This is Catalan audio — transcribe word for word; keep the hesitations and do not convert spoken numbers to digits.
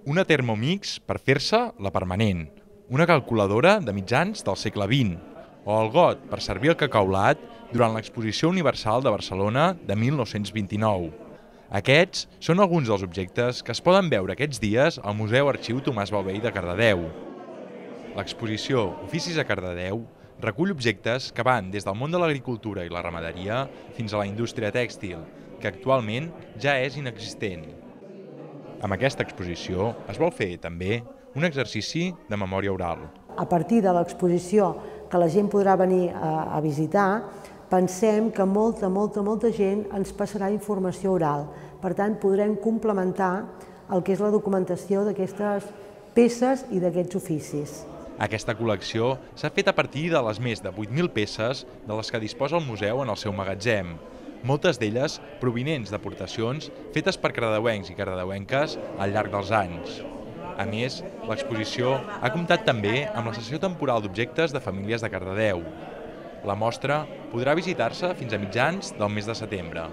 Una Thermomix per fer-se la permanent, una calculadora de mitjans del segle vint, o el got per servir el cacaulat durant l'Exposició Universal de Barcelona de mil nou-cents vint-i-nou. Aquests són alguns dels objectes que es poden veure aquests dies al Museu Arxiu Tomàs Baldvei de Cardedeu. L'exposició Oficis a Cardedeu recull objectes que van des del món de l'agricultura i la ramaderia fins a la indústria tèxtil, que actualment ja és inexistent. Amb aquesta exposició es vol fer també un exercici de memòria oral. A partir de l'exposició que la gent podrà venir a, a visitar, pensem que molta, molta, molta gent ens passarà informació oral. Per tant, podrem complementar el que és la documentació d'aquestes peces i d'aquests oficis. Aquesta col·lecció s'ha fet a partir de les més de vuit mil peces de les que disposa el museu en el seu magatzem, moltes d'elles provinents d'aportacions fetes per cardedeuencs i cardedeuenques al llarg dels anys. A més, l'exposició ha comptat també amb la sessió temporal d'objectes de famílies de Cardedeu. La mostra podrà visitar-se fins a mitjans del mes de setembre.